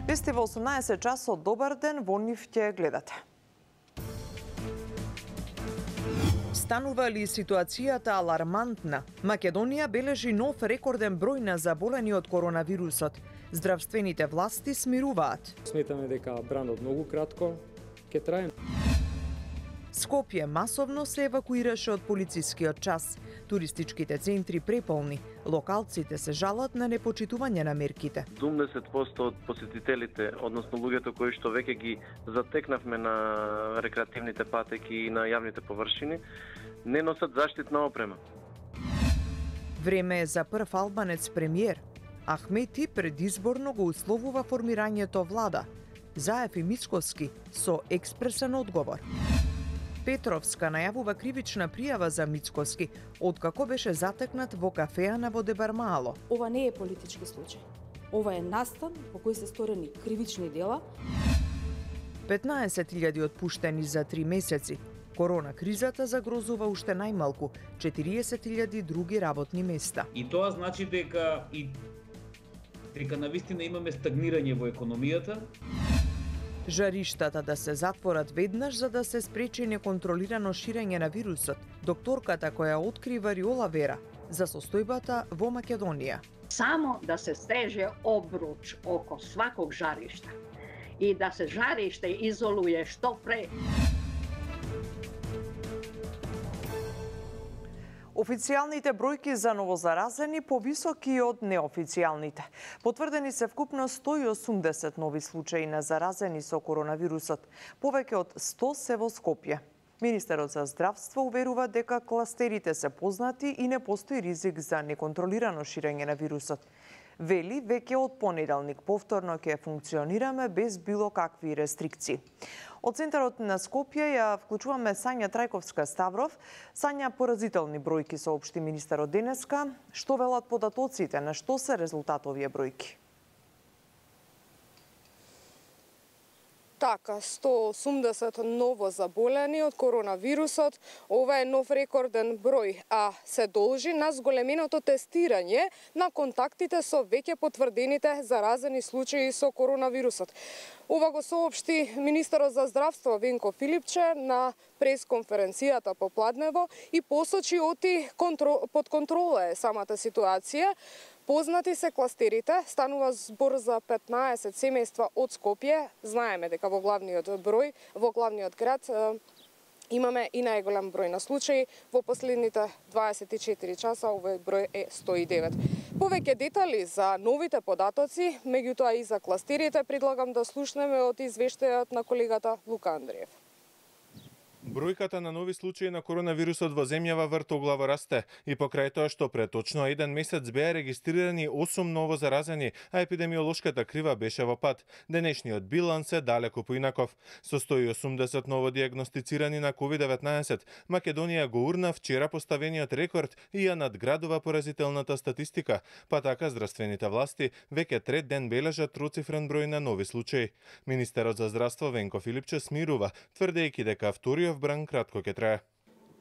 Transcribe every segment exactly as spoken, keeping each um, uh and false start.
Вести во осумнаесет часот, добар ден, во нив ќе гледате. Станува ли ситуацијата алармантна? Македонија бележи нов рекорден број на заболени од коронавирусот. Здравствените власти смируваат. Сметаме дека бранот многу кратко ќе трае. Скопје масовно се евакуираше од полицискиот час. Туристичките центри преполни. Локалците се жалат на непочитување на мерките. седумдесет проценти од посетителите, односно луѓето кои што веќе ги затекнавме на рекреативните патеки и на јавните површини, не носат заштитна опрема. Време е за прв албанец премиер. Ахмети предизборно го условува формирањето влада. Заев и Мицкоски со експресен одговор. Петровска најавува кривична пријава за Мицкоски, откако беше затекнат во кафеана во Дебармаало. Ова не е политички случај. Ова е настан по кој се сторени кривични дела. петнаесет илјади отпуштени за три месеци. Корона кризата загрозува уште најмалку четириесет илјади други работни места. И тоа значи дека и дека навистина имаме стагнирање во економијата. Жариштата да се затворат веднаш за да се спречи неконтролирано ширење на вирусот. Докторката која откри вариола вера за состојбата во Македонија. Само да се стреже обруч око сваког жаришта и да се жариште изолуе што пре. Официјалните бројки за новозаразени повисоки од неофицијалните. Потврдени се вкупно сто и осумдесет нови случаи на заразени со коронавирусот. Повеќе од сто се во Скопје. Министерот за здравство уверува дека кластерите се познати и не постои ризик за неконтролирано ширење на вирусот. Вели, веќе од понеделник повторно ќе функционираме без било какви рестрикции. Од центарот на Скопје ја вклучуваме Сања Трајковска-Ставров. Сања, поразителни бројки соопшти министерот денеска. Што велат податоците, на што се резултат овие бројки? Така, сто и осумдесет ново заболени од коронавирусот. Ова е нов рекорден број, а се должи на зголеменото тестирање на контактите со веќе потврдените заразени случаи со коронавирусот. Ова го соопшти министерот за здравство Венко Филипче на пресконференцијата попладнево и посочи оти контрол, под контрола е самата ситуација. Познати се кластерите, станува збор за петнаесет семејства од Скопје. Знаеме дека во главниот број, во главниот град имаме и најголем број на случаи. Во последните дваесет и четири часа овој број е сто и девет. Повеќе детали за новите податоци, меѓутоа и за кластерите, предлагам да слушнеме од извештајот на колегата Лука Андриев. Бројката на нови случаи на коронавирусот во земјава вртоглаво расте и покрај тоа што пред точно еден месец беа регистрирани осум ново заразени, а епидемиолошката крива беше во пад. Денешниот биланс е далеку поинаков. Со сто и осумдесет ново диагностицирани на ковид деветнаесет, Македонија го урна вчера поставениот рекорд и ја надградува поразителната статистика, па така здравствените власти веќе трет ден бележат троцифрен број на нови случаи. Министерот за здравство Венко Филипче смирува, тврдејќи дека вториот бран кратко ќе трае.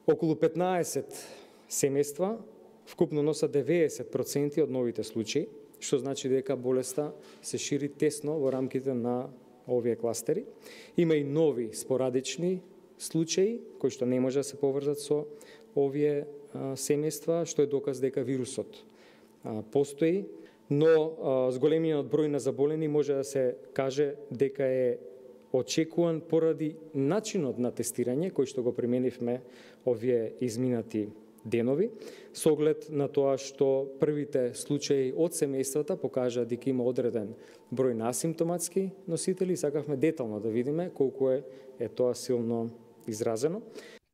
Околу петнаесет семејства вкупно носат деветдесет проценти од новите случаи, што значи дека болеста се шири тесно во рамките на овие кластери. Има и нови спорадични случаи кои што не може да се поврзат со овие семејства, што е доказ дека вирусот постои, но зголемениот број на заболени може да се каже дека е очекуван поради начинот на тестирање кој што го применивме овие изминати денови, со оглед на тоа што првите случаи од семејствата покажа дека има одреден број на асимптоматски носители, сакавме детално да видиме колку е, е тоа силно изразено.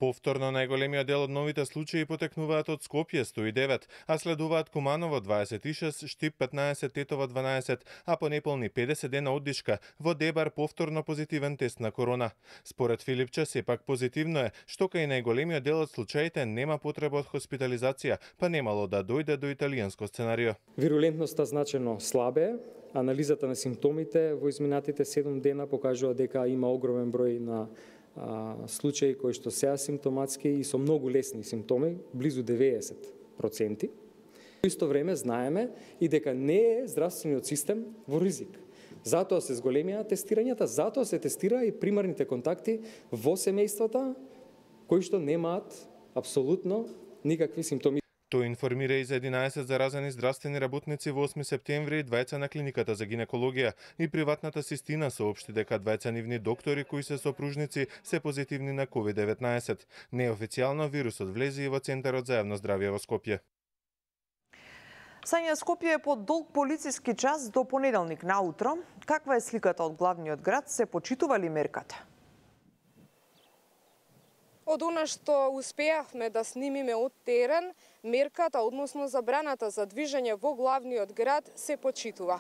Повторно најголемиот дел од новите случаи потекнуваат од Скопје сто и девет, а следуваат Куманово дваесет и шест, Штип петнаесет, Тетово дванаесет, а по неполни педесет дена оддишка во Дебар повторно позитивен тест на корона. Според Филипче сепак позитивно е што кај најголемиот дел од случаите нема потреба од хоспитализација, па немало да дојде до италијанско сценарио. Вирулентноста значено слабе, анализата на симптомите во изминатите седум дена покажува дека има огромен број на А, случаи кои што се асимптоматски и со многу лесни симптоми, близу деветдесет проценти. Во исто време знаеме и дека не е здравствениот систем во ризик. Затоа се зголемија тестирањата, затоа се тестира и примарните контакти во семејствата кои што немаат апсолутно никакви симптоми. Тој информира и за единаесет заразени здравствени работници во осми септември и двајца на клиниката за гинекологија и приватната систина соопшти дека двајца нивни доктори кои се сопружници се позитивни на ковид деветнаесет. Неофицијално вирусот влезе и во Центарот за јавно здравје во Скопје. Сања, Скопје е под долг полициски час до понеделник наутро. Каква е сликата од главниот град? Се почитува ли мерката? Од она што успеавме да снимиме од терен, мерката, односно забраната за движење во главниот град, се почитува.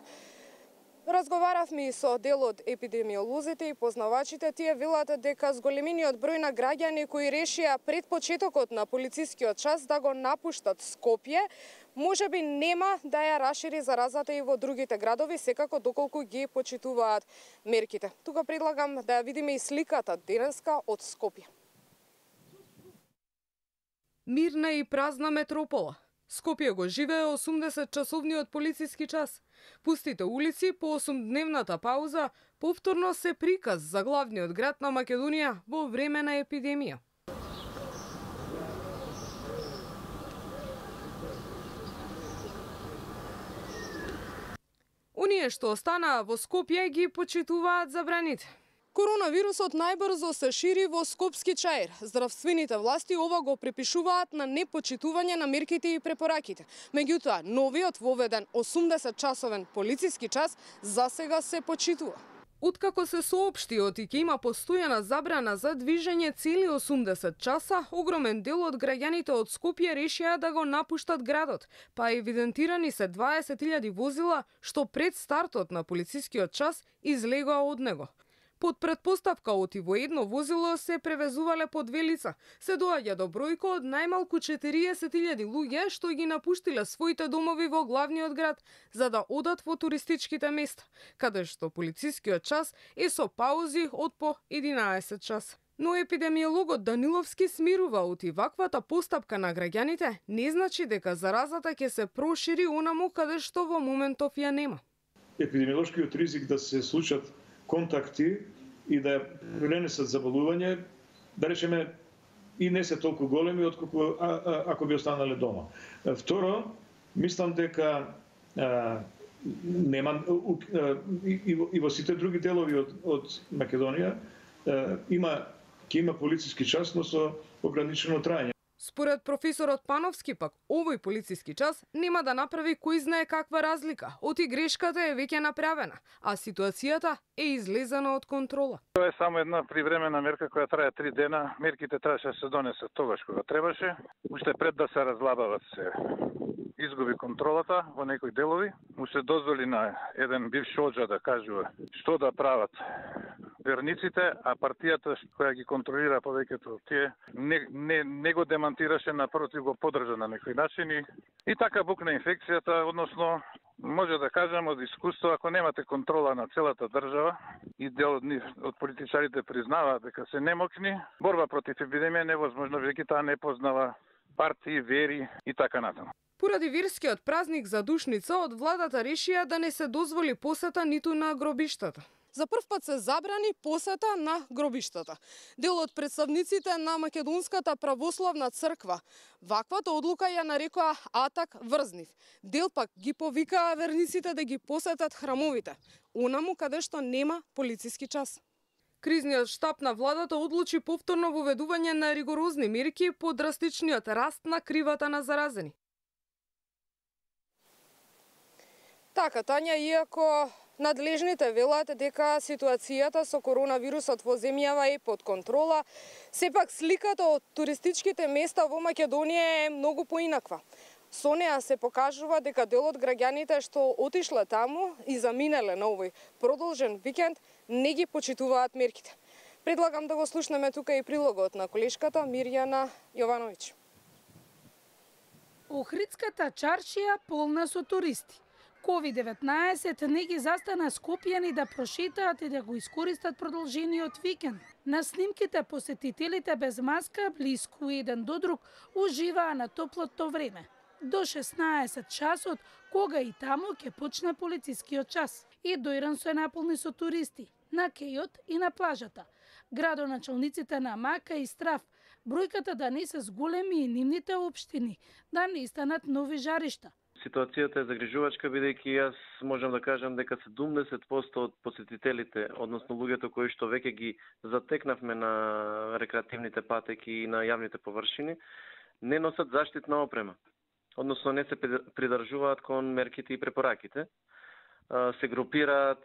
Разговаравме и со дел од епидемиолозите и познавачите. Тие велат дека зголемениот број на граѓани кои решија пред почетокот на полицискиот час да го напуштат Скопје, може би нема да ја расшири заразата и во другите градови, секако доколку ги почитуваат мерките. Тука предлагам да ја видиме и сликата денеска од Скопје. Мирна и празна метропола. Скопје го живее осумдесет часовниот полициски час. Пустите улици по осумдневната пауза повторно се приказ за главниот град на Македонија во време на епидемија. Оние што останаа во Скопје ги почитуваат забраните. Коронавирусот најбрзо се шири во Скопски чаир. Здравствените власти ова го припишуваат на непочитување на мерките и препораките. Меѓутоа, новиот воведен осумдесет часовен полициски час засега се почитува. Откако се соопшти дека има постојана забрана за движење цели осумдесет часа, огромен дел од граѓаните од Скопје решија да го напуштат градот, па евидентирани се дваесет илјади возила што пред стартот на полицискиот час излегоа од него. Под предпоставка оти во едно возило се превезувале по две лица, се доаѓа до бројка од најмалку четириесет илјади луѓе што ги напуштиле своите домови во главниот град за да одат во туристичките места, каде што полицискиот час е со паузи од по единаесет часа. Но епидемиологот Даниловски смирува оти ваквата постапка на граѓаните не значи дека заразата ќе се прошири онаму каде што во моментов ја нема. Епидемиолошкиот ризик да се случат контакти и да пренесат заболување, да речеме, и не се толку големи отколку а, а, ако би останале дома. Второ, мислам дека а, нема а, и, и во сите други делови од, од Македонија а, има ќе има полициски час, но со ограничено траење. Според професорот Пановски пак, овој полициски час нема да направи кој знае каква разлика. Оти грешката е веќе направена, а ситуацијата е излезена од контрола. Тоа е само една привремена мерка која трае три дена. Мерките требаше да се донесат тогаш кога требаше. Уште пред да се разлабават се изгуби контролата во некои делови. Му се дозволи на еден бивш оџа да кажува што да прават верниците, а партијата која ги контролира повеќето тие не, не, не го демантираше, напротив го поддржа на некои начини. И така букна инфекцијата, односно може да кажам од искуство, ако немате контрола на целата држава и дел од нив, од политичарите признаваат дека се немокни, борба против епидемија невозможно, веќе таа не познава партии, вери и така натаму. Поради верскиот празник за Душница, од владата решија да не се дозволи посета ниту на гробиштата. За прв пат се забрани посета на гробиштата. Дел од представниците на Македонската православна црква ваквата одлука ја нарекоа атак врзнив. Дел пак ги повикаа верниците да ги посетат храмовите, онаму каде што нема полициски час. Кризниот штаб на владата одлучи повторно воведување на ригорозни мерки по драстичниот раст на кривата на заразени. Така, Тања, иако надлежните велат дека ситуацијата со коронавирусот во земјава е под контрола, сепак сликата од туристичките места во Македонија е многу поинаква. Со неа се покажува дека дел од граѓаните што отишле таму и заминале на овој продолжен викенд не ги почитуваат мерките. Предлагам да го слушнеме тука и прилогот на колешката Мирјана Јовановиќ. Охридската чаршија полна со туристи. ковид деветнаесет не ги застана скопјани да прошетаат и да го искористат продолжениот викенд. На снимките посетителите без маска, блиску еден до друг, уживаа на топлото време. До шеснаесет часот, кога и таму ќе почне полицискиот час. и Доиран се наполни со туристи на кејот и на плажата. Градоначалниците на Мака и Страв бројката да не се зголеми и нивните општини да не станат нови жаришта. Ситуацијата е загрижувачка, бидејќи јас можам да кажам дека седумдесет проценти од посетителите, односно луѓето кои што веќе ги затекнавме на рекреативните патеки и на јавните површини, не носат заштитна опрема. Односно не се придржуваат кон мерките и препораките. Се групираат,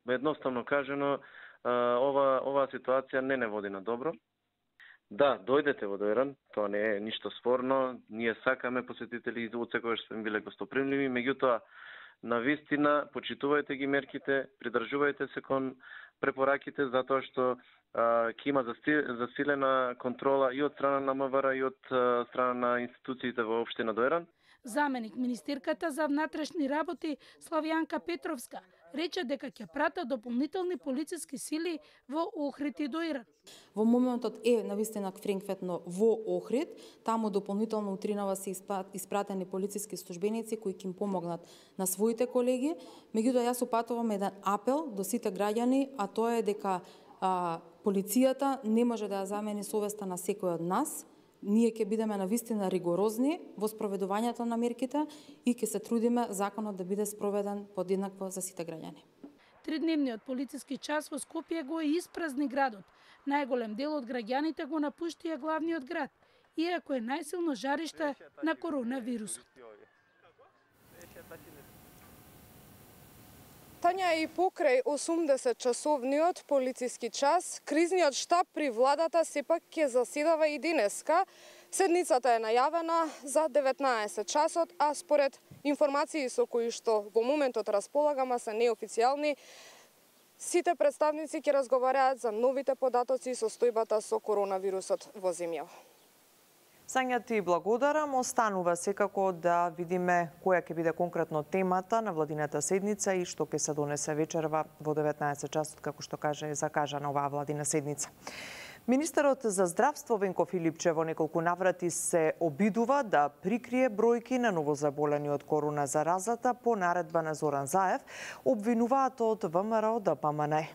едноставно кажано, ова ова ситуација не не води на добро. Да, дојдете во Доиран, тоа не е ништо спорно, ние сакаме посетители и од секогаш сме биле гостопримливи, меѓутоа на вистина почитувајте ги мерките, придржувајте се кон препораките затоа што ќе има засилена контрола и од страна на МВР и од страна на институциите во општина Доиран. Заменик министерката за внатрешни работи Славјанка Петровска рече дека ќе пратат дополнителни полициски сили во Охрид и Доиран. Во моментот е навистина френкветно во Охрид, таму дополнително утринава се испратени полициски службеници кои ќе им помогнат на своите колеги. Меѓутоа јас упатувам еден апел до сите граѓани, а тоа е дека а, полицијата не може да ја замени совеста на секој од нас. Ние ќе бидеме навистина ригорозни во спроведувањето на мерките и ќе се трудиме законот да биде спроведен подеднакво за сите граѓани. Тридневниот полициски час во Скопје го испразни градот. Најголем дел од граѓаните го напуштија главниот град, иако е најсилно жариште на коронавирусот. Тања, и покрај осумдесет часовниот полициски час, кризниот штаб при владата сепак ќе заседава и денеска. Седницата е најавена за деветнаесет часот, а според информации со кои што во моментот располагаме се неофицијални, сите представници ќе разговараат за новите податоци со состојбата со коронавирусот во земјава. Сања, ти благодарам. Останува секако да видиме која ќе биде конкретно темата на владината седница и што ќе се донесе вечерва во деветнаесет часот, како што каже е закажана оваа владина седница. Министерот за здравство Венко Филипче во неколку наврати се обидува да прикрие бројки на новозаболени од корона заразата по наредба на Зоран Заев, обвинуваат од ВМРО Д П М Н.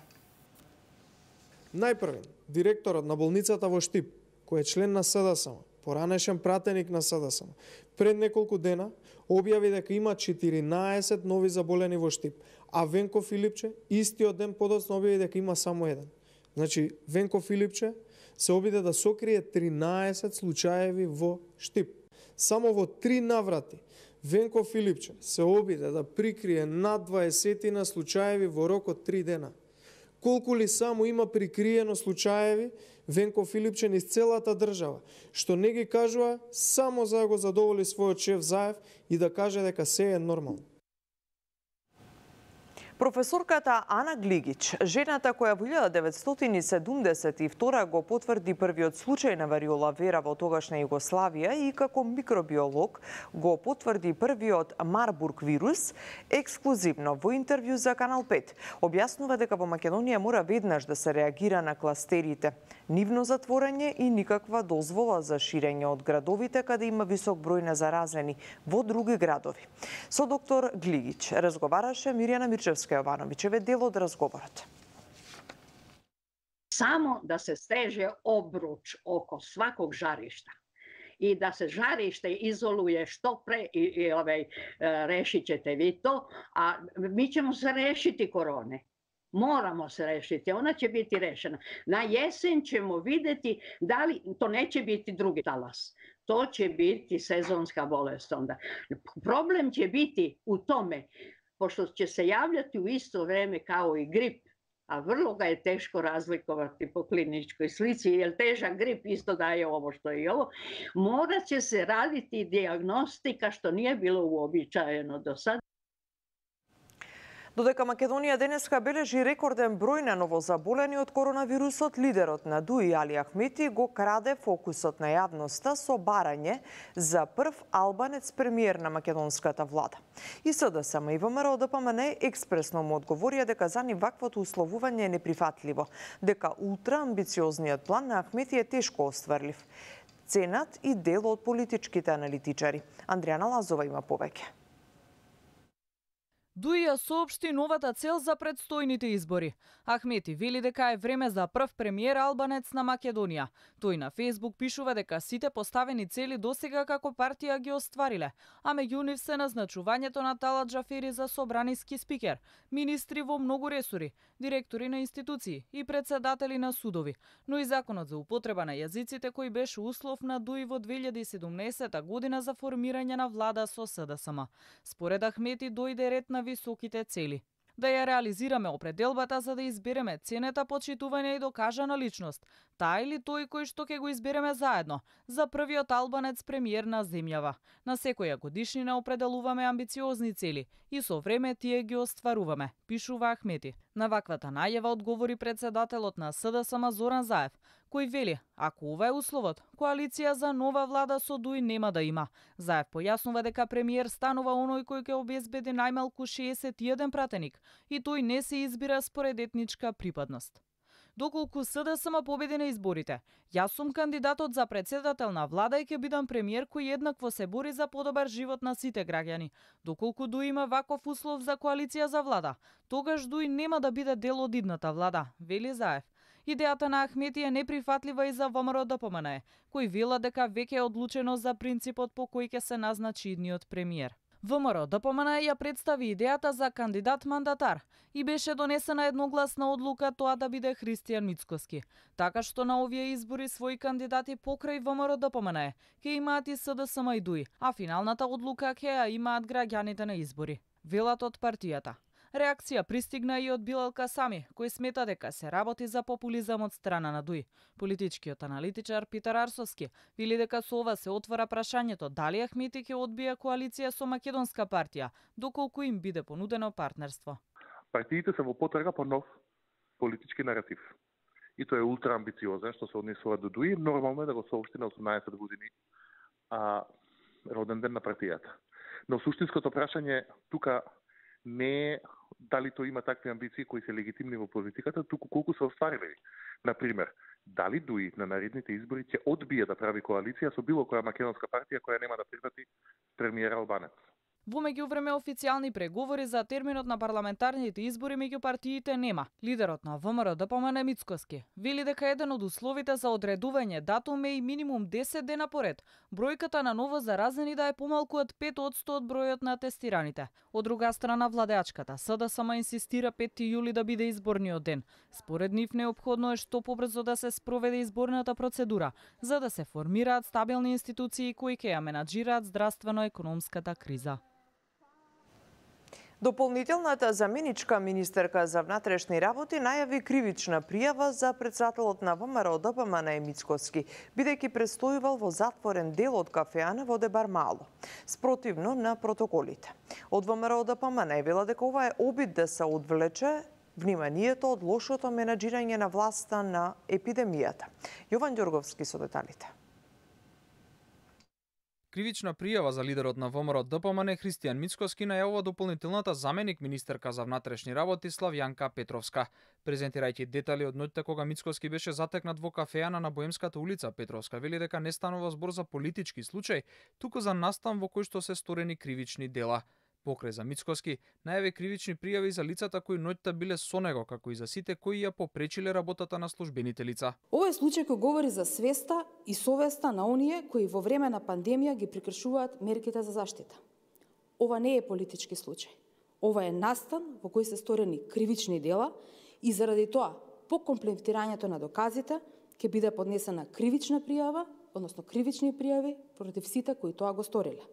Најпрвен, директорот на болницата во Штип, кој е член на С Д С М, поранешен пратеник на С Д С М, пред неколку дена објави дека има четиринаесет нови заболени во Штип, а Венко Филипче истиот ден подоцна објави дека има само еден. Значи, Венко Филипче се обиде да сокрие тринаесет случаеви во Штип. Само во три наврати Венко Филипче се обиде да прикрие над дваесетина случаеви во рок од три дена. Колку ли само има прикриено случаеви Венко Филипче низ целата држава, што не ги кажува само за да го задоволи својот шеф Заев и да каже дека се е нормално. Професорката Ана Глигич, жената која во илјада деветстотини седумдесет и втора го потврди првиот случај на вариола вера во тогашна Југославија и како микробиолог го потврди првиот Марбург вирус, ексклузивно во интервју за Канал пет, објаснува дека во Македонија мора веднаш да се реагира на кластерите, нивно затворање и никаква дозвола за ширење од градовите каде има висок број на заразени во други градови. Со доктор Глигич разговараше Мирјана Мирчевска Јовановичеве дел од разговорот. Само да се стреже обруч око сваког жаришта и да се жариште изолуе што пре и, и овеј решиќете ви то, а ми ćemo се решити короне. Moramo se rešiti, ona će biti rešena. Na jesen ćemo videti da li, to neće biti drugi talas, to će biti sezonska bolest onda. Problem će biti u tome, pošto će se javljati u isto vreme kao i grip, a vrlo ga je teško razlikovati po kliničkoj slici, jer težak grip isto daje ovo što je i ovo, morat će se raditi dijagnostika što nije bilo uobičajeno do sada. Додека Македонија денеска бележи рекорден број на новозаболени од коронавирусот, лидерот на ДУ И Али Ахмети го краде фокусот на јавноста со барање за прв албанец премиер на македонската влада. И С Д С М и ВМРО Д П М Н експресно му одговорија дека за нив ваквото условување е неприфатливо, дека ултраамбициозниот план на Ахмети е тешко остварлив. Ценат и дел од политичките аналитичари. Андријана Лазова има повеќе. Дуи ја соопшти новата цел за предстојните избори. Ахмети вели дека е време за прв премиер албанец на Македонија. Тој на Фејсбук пишува дека сите поставени цели досега како партија ги оствариле, а меѓу нив се назначувањето на Талат Джафери за собраниски спикер, министри во многу ресори, директори на институции и председатели на судови, но и законот за употреба на јазиците кој беше услов на Дуи во две илјади и седумнаесетта година за формирање на влада со СДСМ. Според Ахмети дојде ред на високите цели. Да ја реализираме определбата за да избереме ценета почитување и докажана личност, таа или тој кој што ќе го избереме заедно, за првиот албанец премиер на земјава. На секоја годишнина определуваме амбициозни цели и со време тие ги остваруваме, пишува Ахмети. На ваквата најава одговори председателот на СДСМ Зоран Заев, кој вели, ако ова е условот, коалиција за нова влада со Дуи нема да има. Заев појаснува дека премиер станува оној кој ќе обезбеди најмалку шеесет и еден пратеник и тој не се избира според етничка припадност. Доколку СДСМ победи на изборите, јас сум кандидатот за председател на влада и ќе бидам премиер кој еднакво се бори за подобар живот на сите граѓани. Доколку Дуи има ваков услов за коалиција за влада, тогаш Дуи нема да биде дел од идната влада, вели Заев. Идејата на Ахмети е неприфатлива и за ВМРО Д П М Н, кој вела дека веќе е одлучено за принципот по кој ќе се назначи идниот премиер. ВМРО Д П М Н ја представи идејата за кандидат-мандатар и беше донесена едногласна одлука тоа да биде Христијан Мицкоски. Така што на овие избори своји кандидати покрај ВМРО Д П М Н ќе имаат и СДСМ и Дуи, а финалната одлука ќе ја имаат граѓаните на избори, велат од партијата. Реакција пристигна и од Билал Касами, кој смета дека се работи за популизам од страна на Дуи. Политичкиот аналитичар Питер Арсовски вели дека со ова се отвора прашањето дали Ахмети ќе одбие коалиција со македонска партија, доколку им биде понудено партнерство. Партиите се во потрага по нов политички наратив. И тој е ултраамбициозен што се однесува до Дуи, нормално е да го соопшти на осумнаесет години а, роден ден на партијата. Но суштинското прашање тука не е дали тој има такви амбиции кои се легитимни во политиката, туку колку се остварили. Например, дали Дуи на наредните избори ќе одбие да прави коалиција со било која македонска партија која нема да прифати премиер албанец. Во меѓувреме официјални преговори за терминот на парламентарните избори меѓу партиите нема. Лидерот на ВМРО Д П М Н Мицкоски вели дека еден од условите за одредување датум е и минимум десет дена поред бројката на ново заразени да е помалку од пет одсто од бројот на тестираните. Од друга страна, владеачката СДСМ инсистира петти јули да биде изборниот ден. Според нив неопходно е што побрзо да се спроведе изборната процедура, за да се формираат стабилни институции кои ќе ја менаџираат здравствено-економската криза. Дополнителната заменичка министерка за внатрешни работи најави кривична пријава за председателот на ВМРО Д П М Н Мицкоски, бидејќи престојувал во затворен дел од кафеана во Дебар Мало, спротивно на протоколите. Од ВМРО Д П М Н вела дека ова е обид да се одвлече вниманието од лошото менаџирање на власта на епидемијата. Јован Ѓорговски со деталите. Кривична пријава за лидерот на ВМРО Д П М Н Христијан Мицкоски најавува дополнителната заменик министерка за внатрешни работи Славјанка Петровска. Презентирајќи детали од ноќта кога Мицкоски беше затекнат во кафеана на Боемската улица, Петровска вели дека не станува збор за политички случај, туку за настан во кој што се сторени кривични дела. Покрај за Мицкоски, најави кривични пријави за лицата кои ноќта биле со него, како и за сите кои ја попречиле работата на службените лица. Овој случај кој говори за свеста и совеста на оние кои во време на пандемија ги прекршуваат мерките за заштита. Ова не е политички случај. Ова е настан во кој се сторени кривични дела и заради тоа, по комплементирањето на доказите, ќе биде поднесена кривична пријава, односно кривични пријави против сите кои тоа го сториле.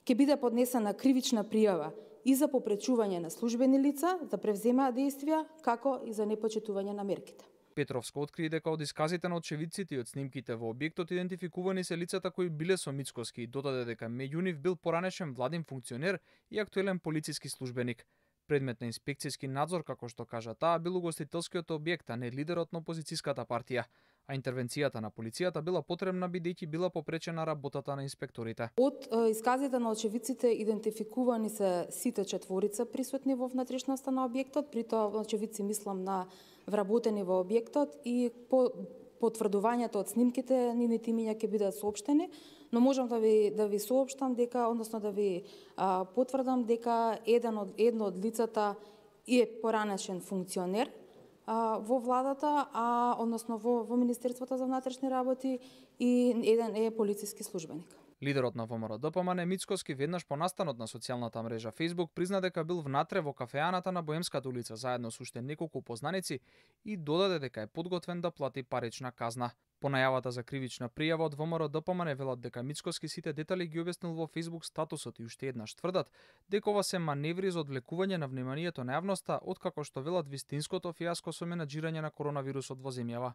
Ќе биде поднесена кривична пријава и за попречување на службени лица да превземаат действија, како и за непочитување на мерките. Петровска откри дека од исказите на очевидците и од снимките во објектот идентификувани се лицата кои биле со Мицкоски и додаде дека меѓу нив бил поранешен владин функционер и актуелен полициски службеник. Предмет на инспекцијски надзор, како што кажа таа, бил угостителскиот објект, а не лидерот на опозицијската партија. А интервенцијата на полицијата била потребна бидејќи била попречена работата на инспекторите. Од исказите на очевидците идентификувани се сите четворица присутни во внатрешноста на објектот, при тоа очевидци мислам на вработени во објектот и по потврдувањето од снимките нивните имиња ќе бидат соопштени, Но можам да ви да ви соопштам дека, односно да ви а, потврдам дека еден од едно од лицата е поранешен функционер а, во владата, а односно во во Министерството за внатрешни работи, и еден е полициски службеник. Лидерот на ВМРО Д П М Н Мицкоски веднаш по настанот на социјалната мрежа Facebook призна дека бил внатре во кафеаната на Боемската улица заедно со уште неколку познаници и додаде дека е подготвен да плати парична казна. По најавата за кривична пријава од ВМРО Д П М Н велат дека Мицкоски сите детали ги објаснил во Facebook статусот и уште еднаш тврдат дека ова се маневри за одвлекување на вниманието на јавноста, откако што велат вистинското фијаско со менаџирање на коронавирусот во земјава.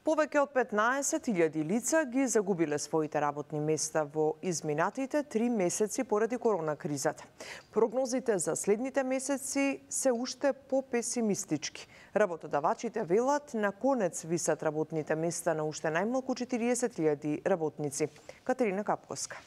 Повеќе од петнаесет илјади лица ги загубиле своите работни места во изминатите три месеци поради корона кризата. Прогнозите за следните месеци се уште попесимистички. Работодавачите велат на конец висат работните места на уште најмалку четириесет илјади работници. Катерина Капковска.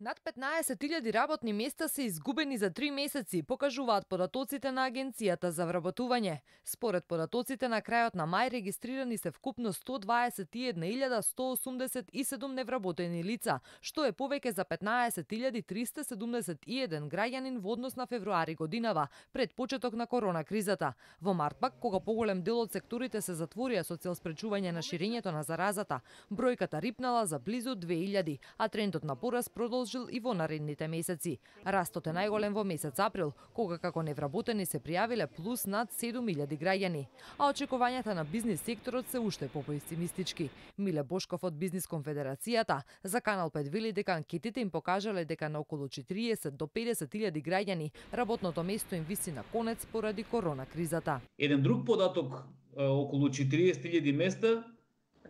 Над петнаесет илјади работни места се изгубени за три месеци, покажуваат податоците на Агенцијата за вработување. Според податоците на крајот на мај регистрирани се вкупно сто дваесет и една илјада сто осумдесет и седум невработени лица, што е повеќе за петнаесет илјади триста седумдесет и еден граѓанин во однос на февруари годинава, пред почеток на корона кризата. Во март пак, кога поголем дел од секторите се затворија со цел спречување на ширењето на заразата, бројката рипнала за близу две илјади, а трендот на пораст продолжил и во наредните месеци. Растот е најголем во месец април, кога како невработени се пријавиле плюс над седум илјади граѓани. А очекувањата на бизнис секторот се уште попесимистички. Миле Бошков од Бизнис конфедерацијата за Канал пет вели дека анкетите им покажале дека на околу четириесет до педесет илјади граѓани работното место им виси на конец поради корона кризата. Еден друг податок, околу четириесет илјади места,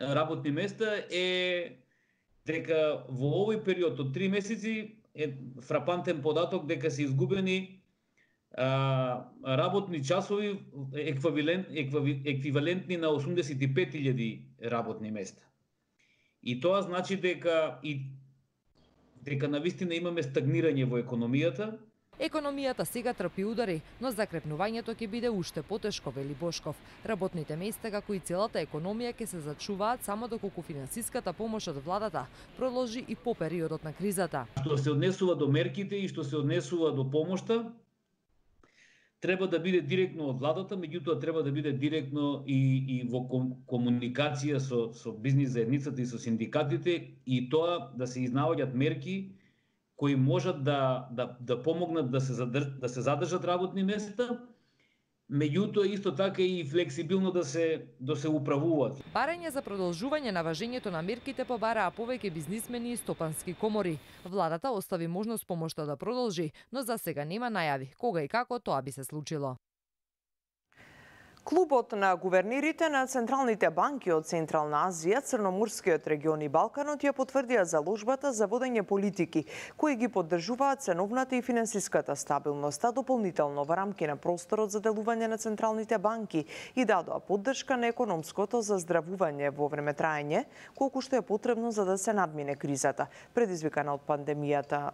работни места, е дека во овој период од три месеци е фрапантен податок дека се изгубени а, работни часови еквивалент, еквивалентни на осумдесет и пет илјади работни места. И тоа значи дека и дека навистина имаме стагнирање во економијата. Економијата сега трпи удари, но закрепнувањето ќе биде уште потешко, вели Бошков. Работните места, како и целата економија, ќе се зачуваат само доколку финансиската помош од владата продолжи и по периодот на кризата. Што се однесува до мерките и што се однесува до помошта, треба да биде директно од владата, меѓутоа треба да биде директно и, и во комуникација со, со бизнис заедницата и со синдикатите, и тоа да се изнаоѓаат мерки кои можат да, да, да помогнат да се, задрж, да се задржат работни места, меѓутоа исто така и флексибилно да се, да се управуваат. Барање за продолжување на важењето на мерките побараа повеќе бизнисмени и стопански комори. Владата остави можност помошта да продолжи, но за сега нема најави кога и како тоа би се случило. Клубот на гувернерите на централните банки од Централна Азија, Црноморскиот регион и Балканот ја потврдија заложбата за водење политики кои ги поддржуваат ценовната и финансиската стабилност, а дополнително во рамки на просторот за делување на централните банки и дадоа поддршка на економското заздравување во време траење, колку што е потребно за да се надмине кризата, предизвикана од пандемијата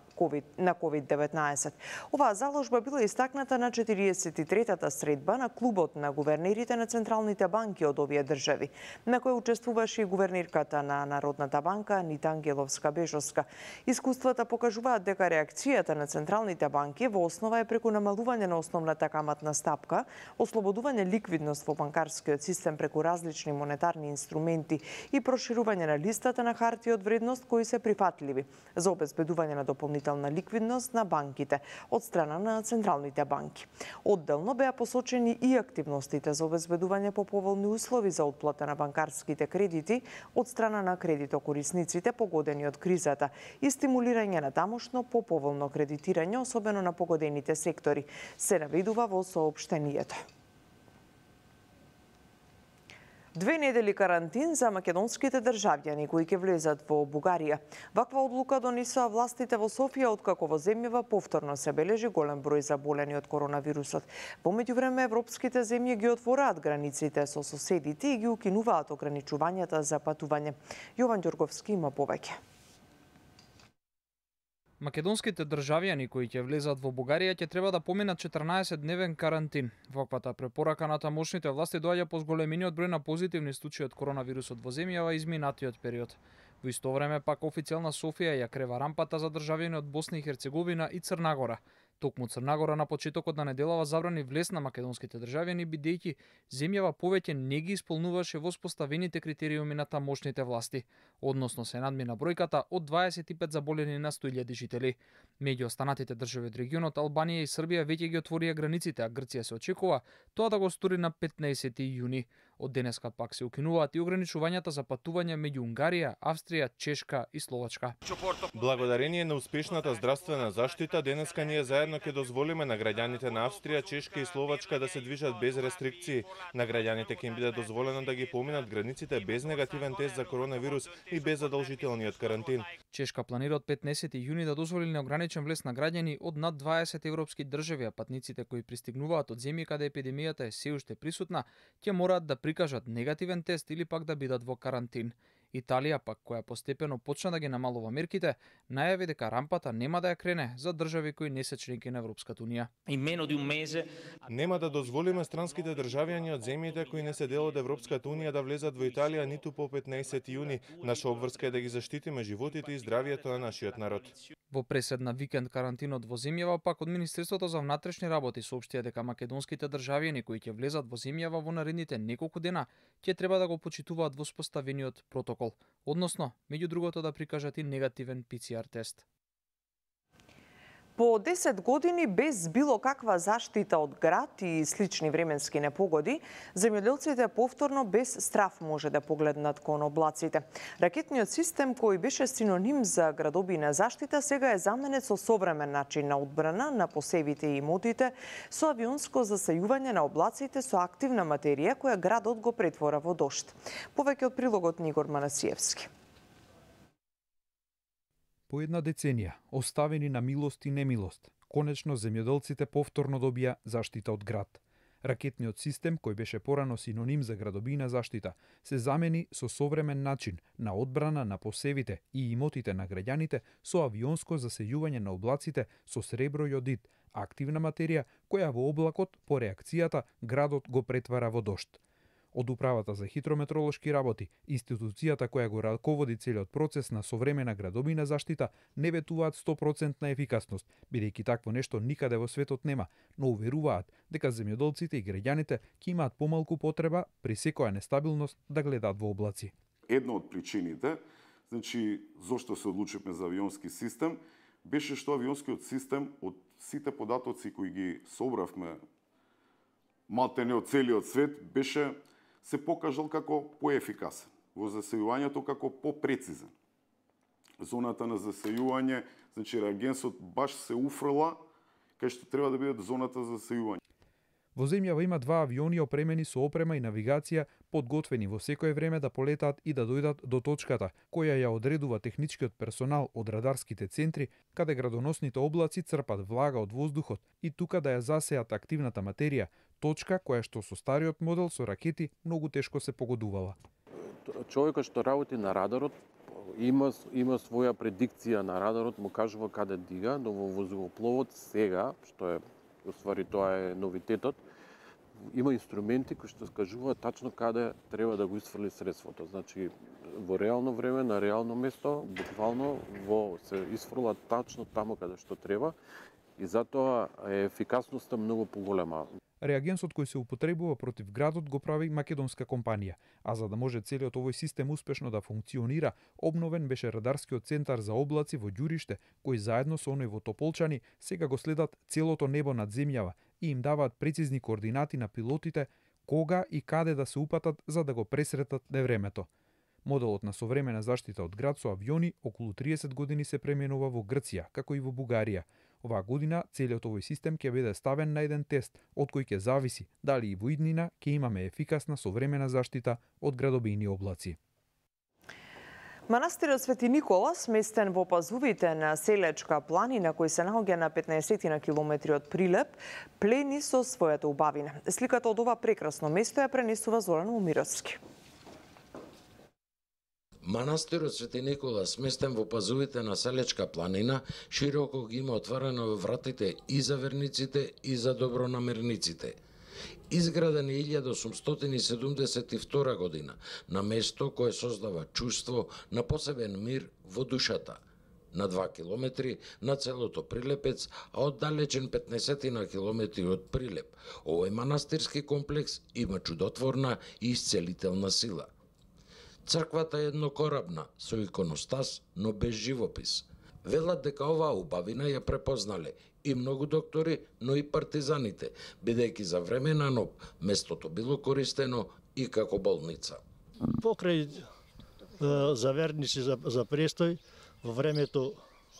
на ковид деветнаесет. Оваа заложба била истакната на четириесет и третата средба на Клубот на гувернерите на централните банки од овие држави, на која учествуваше и гувернерката на Народната банка Анита Ангеловска-Бежовска. Искуствата покажуваат дека реакцијата на централните банки во основа е преку намалување на основната каматна стапка, ослободување ликвидност во банкарскиот систем преку различни монетарни инструменти и проширување на листата на харти од вредност кои се прифатливи за обезбедување на дополнителна ликвидност на банките од страна на централните банки. Одделно беа посочени и активностите за обезбедување по поволни услови за отплата на банкарските кредити од страна на кредитокорисниците погодени од кризата и стимулирање на тамошно по поволно кредитирање, особено на погодените сектори, се наведува во соопштението. Две недели карантин за македонските државјани кои ќе влезат во Бугарија. Ваква одлука донесоа властите во Софија откако во земјава повторно се бележи голем број заболени од коронавирусот. Во меѓувреме европските земји ги отвораат границите со соседите и ги укинуваат ограничувањата за патување. Јован Ѓорговски има повеќе. Македонските државјани кои ќе влезат во Бугарија ќе треба да поминат четрнаесет дневен карантин. Ваквата препорака на тамошните власти доаѓа по зголемениот број на позитивни случаи од коронавирусот во земјава изминатиот период. Во исто време пак официјална Софија ја крева рампата за државјани од Босна и Херцеговина и Црна Гора. Токму Црна Гора на почетокот на неделава забрани влез на македонските државјани бидејќи земјава повеќе не ги исполнуваше воспоставените критериуми на тамошните власти, односно се надмина бројката од дваесет и пет заболени на сто илјади жители. Меѓу останатите држави од регионот Албанија и Србија веќе ги отворија границите, а Грција се очекува тоа да го стори на петнаесети јуни. Од денеска пак се укинуваат и ограничувањата за патување меѓу Унгарија, Австрија, Чешка и Словачка. Благодарение на успешната здравствена заштита, денеска ние заедно ќе дозволиме на граѓаните на Австрија, Чешка и Словачка да се движат без рестрикции. На граѓаните ќе им биде дозволено да ги поминат границите без негативен тест за коронавирус и без задолжителниот карантин. Чешка планира од петнаесети јуни да дозволи неограничен влез на граѓани од над дваесет европски држави, а патниците кои пристигнуваат од земји каде епидемијата е се уште присутна, ќе мораат да прикажат негативен тест или пак да бидат во карантин. Италија пак, која постепено почна да ги намалува мерките, најави дека рампата нема да ја крене за држави кои не се членки на Европската унија. Нема да дозволиме странските државјани од земјите кои не се дел од Европската унија да влезат во Италија ниту по петнаесети јуни. Наша обврска е да ги заштитиме животите и здравието на нашиот народ. Во пресед на викенд карантинот во земјава пак од Министерството за внатрешни работи соопштија дека македонските државјани кои ќе влезат во земјава во наредните неколку дена ќе треба да го почитуваат воспоставениот протокол, односно, меѓу другото да прикажат и негативен пи це ар тест. По десет години без било каква заштита од град и слични временски непогоди, земјоделците повторно без страф може да погледнат кон облаците. Ракетниот систем кој беше синоним за градобина заштита сега е заменет со современ начин на одбрана на посевите и имотите со авионско засејување на облаците со активна материја која градот го претвора во дожд. Повеќе од прилогот Нигор Манасиевски. По една деценија, оставени на милост и немилост, конечно земјоделците повторно добија заштита од град. Ракетниот систем, кој беше порано синоним за градобина заштита, се замени со современ начин на одбрана на посевите и имотите на граѓаните со авионско засејување на облаците со сребро и одит, активна материја која во облакот по реакцијата градот го претвара во дожд. Од Управата за хидрометролошки работи, институцијата која го раководи целиот процес на современа градобина заштита, не ветуваат сто проценти ефикасност, бидејќи такво нешто никаде во светот нема, но уверуваат дека земјоделците и граѓаните ќе имаат помалку потреба при секоја нестабилност да гледаат во облаци. Една од причините, значи зошто се одлучивме за авионски систем, беше што авионскиот систем од сите податоци кои ги собравме малтене од целиот свет беше се покажал како поефикасен, во засејувањето како попрецизен. Зоната на засејување, значи реагенсот баш се уфрла кај што треба да биде зоната за засејување. Во земјава има два авиони опремени со опрема и навигација, подготвени во секое време да полетаат и да дојдат до точката, која ја одредува техничкиот персонал од радарските центри, каде градоносните облаци црпат влага од воздухот и тука да ја засеат активната материја, точка која што со стариот модел со ракети многу тешко се погодувала. Човекот што работи на радарот има има своја предикција на радарот, му кажува каде дига, но во воздухопловот сега, што е уствари тоа е новитетот, има инструменти кои што скажуваат тачно каде треба да го исфрли средството. Значи во реално време, на реално место, буквално во се исфрла тачно таму каде што треба и затоа е ефикасноста многу поголема. Реагенсот кој се употребува против градот го прави македонска компанија, а за да може целиот овој систем успешно да функционира, обновен беше радарскиот центар за облаци во Ѓуриште, кој заедно со оној во Тополчани сега го следат целото небо над земјава и им даваат прецизни координати на пилотите кога и каде да се упатат за да го пресретат невремето. Моделот на современа заштита од град со авиони околу триесет години се пременува во Грција, како и во Бугарија. Оваа година целиот овој систем ќе биде ставен на еден тест, од кој ќе зависи дали и во иднина ќе имаме ефикасна современа заштита од градобини облаци. Манастирот Свети Никола, сместен во пазувите на Селечка планина, кој се наоѓа на петнаесет на километри од Прилеп, плени со својата убавина. Сликата од ова прекрасно место ја пренесува Зоран Умировски. Манастирот Свети Никола, сместен во пазувите на Селечка планина, широко ги има отворено вратите и за верниците и за добронамерниците. Изграден е илјада осумстотини седумдесет и втора година, на место кое создава чувство на посебен мир во душата. На два километри на целото Прилепец, а оддалечен петнаесет километри од Прилеп, овој манастирски комплекс има чудотворна и исцелителна сила. Црквата е еднокорабна, со иконостас, но без живопис. Велат дека оваа убавина ја препознале и многу доктори, но и партизаните, бидејќи за време на НОБ местото било користено и како болница. Покрај е, за верници за, за престој, во времето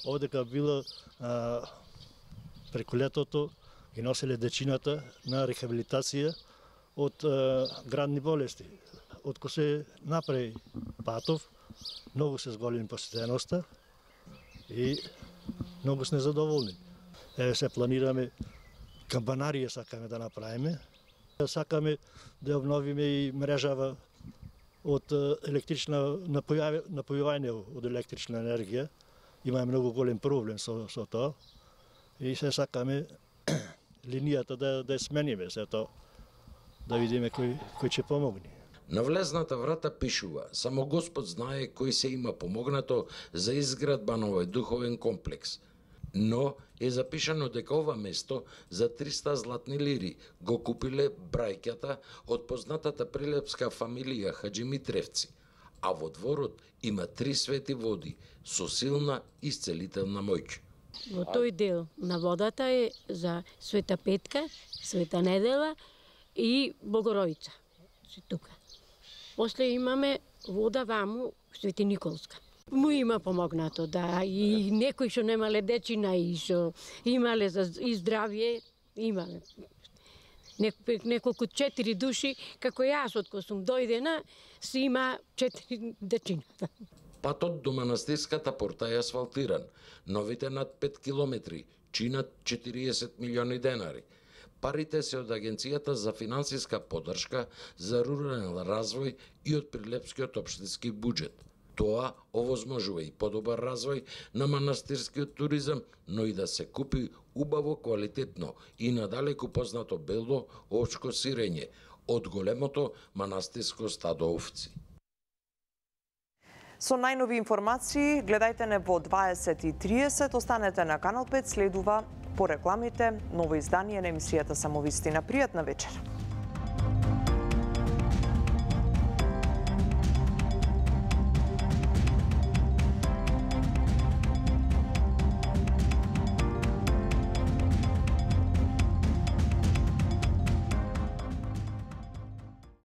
овдека било а, преку летото ги носеле дечината на рехабилитација од а, градни болести. Откако се направи патов, многу се зголеми посетеноста и многу сме задоволни. Еве се планираме камбанарија сакаме да направиме. Сакаме да обновиме и мрежава од електрична напојување од електрична енергија. Има многу голем проблем со, со тоа. И се сакаме линијата да, да смениме се тоа, да видиме кој, кој ќе помогне. На влезната врата пишува: само Господ знае кој се има помогнато за изградба на овој духовен комплекс. Но е запишано дека ова место за триста златни лири го купиле брајката од познатата прилепска фамилија Хаджимитревци, а во дворот има три свети води со силна исцелителна моќ. Во тој дел на водата е за Света Петка, Света Недела и Богородица. Тука. После имаме вода ваму Свети Николска. Му има помогнато, да, и некои што немале дечина и што имале за и здравје, имале. Неколку четири души, како јас, откако сум дојдена, си има четири дечина. Патот до манастирската порта е асфалтиран. Новите над пет километри чинат четириесет милиони денари. Парите се од Агенцијата за финансиска поддршка за рурален развој и од Прилепскиот општински буџет. Тоа овозможува и подобар развој на манастирскиот туризам, но и да се купи убаво, квалитетно и надалеку познато бело овчко сирење од големото манастирско стадо овци. Со најнови информации гледајте не во дваесет и тридесет, останете на Канал пет, следува по рекламите ново издание на емисијата Самовистина. Пријатна вечер.